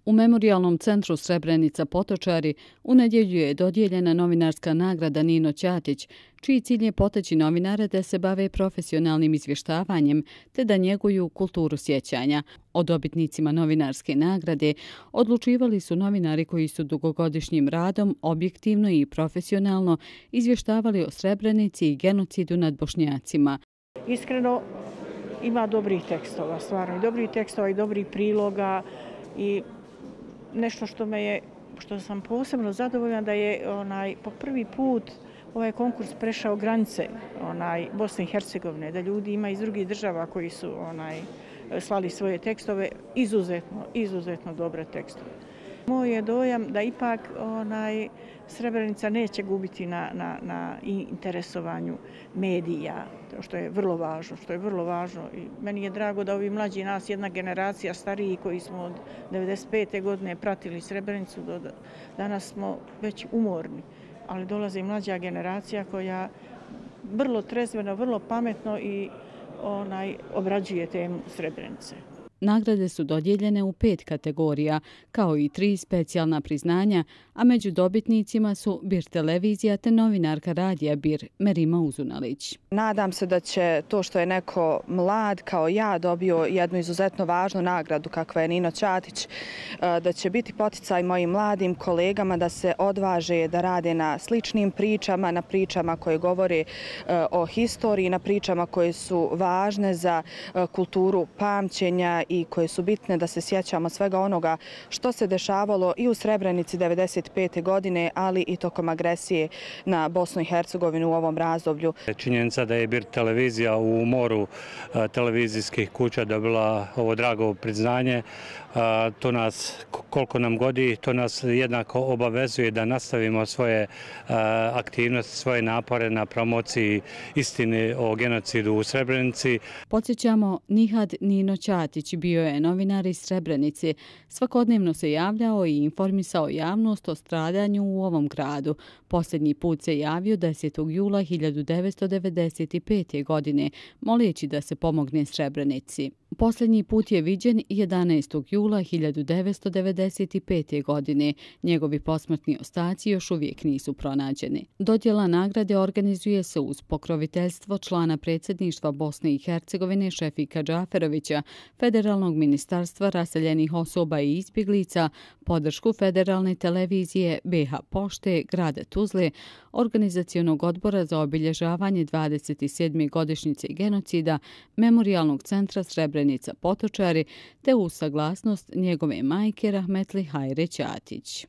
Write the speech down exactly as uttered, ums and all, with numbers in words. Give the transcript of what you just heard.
U Memorijalnom centru Srebrenica Potočari u nedjelju je dodijeljena novinarska nagrada Nino Ćatić, čiji cilj je poteći novinare da se bave profesionalnim izvještavanjem te da njeguju kulturu sjećanja. O dobitnicima novinarske nagrade odlučivali su novinari koji su dugogodišnjim radom objektivno i profesionalno izvještavali o Srebrenici i genocidu nad Bošnjacima. Iskreno ima dobrih tekstova, stvarno i dobrih tekstova i dobrih priloga i nešto što me je, što sam posebno zadovoljna da je onaj po prvi put ovaj konkurs prešao granice onaj Bosne i Hercegovine, da ljudi ima iz drugih država koji su onaj slali svoje tekstove, izuzetno, izuzetno dobre tekstove. Moj je dojam da ipak onaj Srebrenica neće gubiti na, na, na interesovanju medija, što je vrlo važno, što je vrlo važno. I meni je drago da ovi mlađi nas, jedna generacija stariji koji smo od devedeset pete godine pratili Srebrenicu, do danas smo već umorni, ali dolazi i mlađa generacija koja vrlo trezveno, vrlo pametno i onaj obrađuje temu Srebrenice. Nagrade su dodijeljene u pet kategorija, kao i tri specijalna priznanja, a među dobitnicima su Bir televizija te novinarka radija Bir Merima Uzunalić. Nadam se da će to što je neko mlad kao ja dobio jednu izuzetno važnu nagradu kakva je Nino Ćatić, da će biti poticaj mojim mladim kolegama da se odvaže da rade na sličnim pričama, na pričama koje govore o historiji, na pričama koje su važne za kulturu pamćenja i koje su bitne da se sjećamo svega onoga što se dešavalo i u Srebrenici devedeset pete godine, ali i tokom agresije na Bosnu i Hercegovinu u ovom razdoblju. Činjenica da je Bir televizija u moru televizijskih kuća dobila ovo drago priznanje, to nas, koliko nam godi, to nas jednako obavezuje da nastavimo svoje aktivnosti, svoje napore na promociji istine o genocidu u Srebrenici. Podsjećamo, Nihad Nino Ćatić bio je novinar iz Srebrenice. Svakodnevno se javljao i informisao javnost o stradanju u ovom gradu. Posljednji put se javio desetog jula hiljadu devetsto devedeset pete. godine, moleći da se pomogne Srebrenici. Posljednji put je viđen jedanaestog jula hiljadu devetsto devedeset pete. godine. Njegovi posmrtni ostaci još uvijek nisu pronađeni. Dodjela nagrade organizuje se uz pokroviteljstvo člana predsjedništva Bosne i Hercegovine Šefika Džaferovića, Federalnog ministarstva raseljenih osoba i izbjeglica, podršku Federalne televizije, B H Pošte, grada Tuzle, Organizacionog odbora za obilježavanje dvadeset sedme godišnjice genocida, Memorijalnog centra Srebrenica Potočari, te uz saglasnost njegove majke Rahmetli Hajre Ćatić.